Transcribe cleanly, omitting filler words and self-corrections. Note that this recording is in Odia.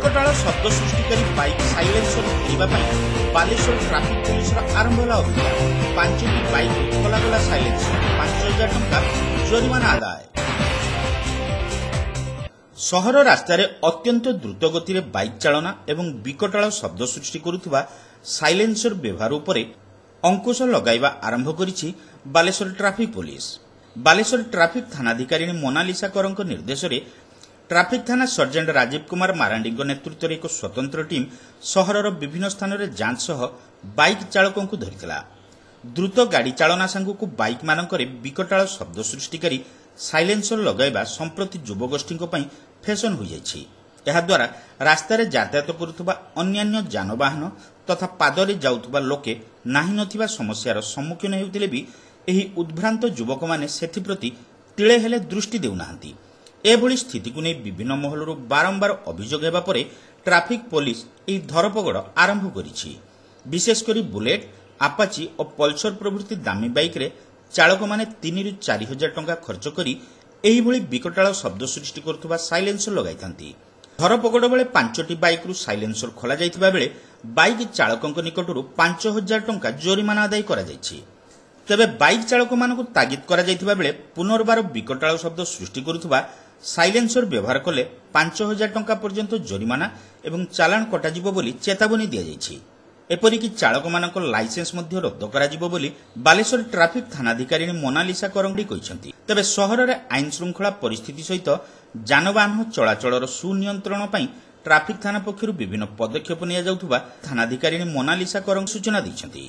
ବିକଟାଳ ଶବ୍ଦ ସୃଷ୍ଟିକାରୀ ବାଇକ୍ ସାଇଲେନ୍ସର ଖୋଲିବା ପାଇଁ ବାଲେଶ୍ୱର ଟ୍ରାଫିକ୍ ପୋଲିସର ଆରମ୍ଭ ହେଲା ଅଭିଯାନ। 5ଟି ବାଇକ୍ ଖୋଲାଗଲା ସାଇଲେନ୍ସର, 5000 ଟଙ୍କା ଜରିମାନା ଆଦାୟ। ସହର ରାସ୍ତାରେ ଅତ୍ୟନ୍ତ ଦ୍ରୁତ ଗତିରେ ବାଇକ୍ ଚାଳନା ଏବଂ ବିକଟାଳ ଶବ୍ଦ ସୃଷ୍ଟି କରୁଥିବା ସାଇଲେନ୍ସର ବ୍ୟବହାର ଉପରେ ଅଙ୍କୁଶ ଲଗାଇବା ଆରମ୍ଭ କରିଛି Balasore traffic police. Balasore traffic ଥାନାଧିକାରିଣୀ ମୋନାଲିସା କରଙ୍କ ନିର୍ଦ୍ଦେଶରେ ଟ୍ରାଫିକ୍ ଥାନା ସର୍ଜେଣ୍ଟ ରାଜୀବ କୁମାର ମାରାଣ୍ଡିଙ୍କ ନେତୃତ୍ୱରେ ଏକ ସ୍ୱତନ୍ତ୍ର ଟିମ୍ ସହରର ବିଭିନ୍ନ ସ୍ଥାନରେ ଯାଞ୍ଚ ସହ ବାଇକ୍ ଚାଳକଙ୍କୁ ଧରିଥିଲା। ଦ୍ରୁତ ଗାଡ଼ି ଚାଳନା ସାଙ୍ଗକୁ ବାଇକ୍ମାନଙ୍କରେ ବିକଟାଳ ଶବ୍ଦ ସୃଷ୍ଟିକାରୀ ସାଇଲେନ୍ସର ଲଗାଇବା ସମ୍ପ୍ରତି ଯୁବଗୋଷ୍ଠୀଙ୍କ ପାଇଁ ଫ୍ୟାସନ୍ ହୋଇଯାଇଛି। ଏହାଦ୍ୱାରା ରାସ୍ତାରେ ଯାତାୟାତ କରୁଥିବା ଅନ୍ୟାନ୍ୟ ଯାନବାହନ ତଥା ପାଦରେ ଯାଉଥିବା ଲୋକେ ନାହିଁ ନଥିବା ସମସ୍ୟାର ସମ୍ମୁଖୀନ ହେଉଥିଲେ ବି ଏହି ଉଦ୍ଭ୍ରାନ୍ତ ଯୁବକମାନେ ସେଥିପ୍ରତି ତିଳେ ହେଲେ ଦୃଷ୍ଟି ଦେଉନାହାନ୍ତି। ଏଭଳି ସ୍ଥିତିକୁ ନେଇ ବିଭିନ୍ନ ମହଲରୁ ବାରମ୍ବାର ଅଭିଯୋଗ ହେବା ପରେ ଟ୍ରାଫିକ୍ ପୋଲିସ ଏହି ଧରପଗଡ଼ ଆରମ୍ଭ କରିଛି। ବିଶେଷ କରି ବୁଲେଟ୍, ଆପାଚି ଓ ପଲସର ପ୍ରଭୃତି ଦାମୀ ବାଇକ୍ରେ ଚାଳକମାନେ 3ରୁ 4 ହଜାର ଟଙ୍କା ଖର୍ଚ୍ଚ କରି ଏହିଭଳି ବିକଟାଳ ଶବ୍ଦ ସୃଷ୍ଟି କରୁଥିବା ସାଇଲେନ୍ସର ଲଗାଇଥାନ୍ତି। ଧରପଗଡ଼ ବେଳେ 5ଟି ବାଇକ୍ରୁ ସାଇଲେନ୍ସର ଖୋଲାଯାଇଥିବା ବେଳେ ବାଇକ୍ ଚାଳକଙ୍କ ନିକଟରୁ 5000 ଟଙ୍କା ଜୋରିମାନା ଆଦାୟ କରାଯାଇଛି। ତେବେ ବାଇକ୍ ଚାଳକମାନଙ୍କୁ ତାଗିଦ କରାଯାଇଥିବା ବେଳେ ପୁନର୍ବାର ବିକଟାଳ ଶବ୍ଦ ସୃଷ୍ଟି କରୁଥିବା ସାଇଲେନ୍ସର ବ୍ୟବହାର କଲେ 5000 ଟଙ୍କା ପର୍ଯ୍ୟନ୍ତ ଜରିମାନା ଏବଂ ଚାଲାଣ କଟାଯିବ ବୋଲି ଚେତାବନୀ ଦିଆଯାଇଛି। ଏପରିକି ଚାଳକମାନଙ୍କ ଲାଇସେନ୍ସ ମଧ୍ୟ ରଦ୍ଦ କରାଯିବ ବୋଲି ବାଲେଶ୍ୱର ଟ୍ରାଫିକ୍ ଥାନାଧିକାରିଣୀ ମୋନାଲିସା କରଙ୍ଗଡି କହିଛନ୍ତି। ତେବେ ସହରରେ ଆଇନ ଶୃଙ୍ଖଳା ପରିସ୍ଥିତି ସହିତ ଯାନବାହନ ଚଳାଚଳର ସୁନିୟନ୍ତ୍ରଣ ପାଇଁ ଟ୍ରାଫିକ୍ ଥାନା ପକ୍ଷରୁ ବିଭିନ୍ନ ପଦକ୍ଷେପ ନିଆଯାଉଥିବା ଥାନାଧିକାରିଣୀ ମୋନାଲିସା କରଙ୍ଗ ସୂଚନା ଦେଇଛନ୍ତି।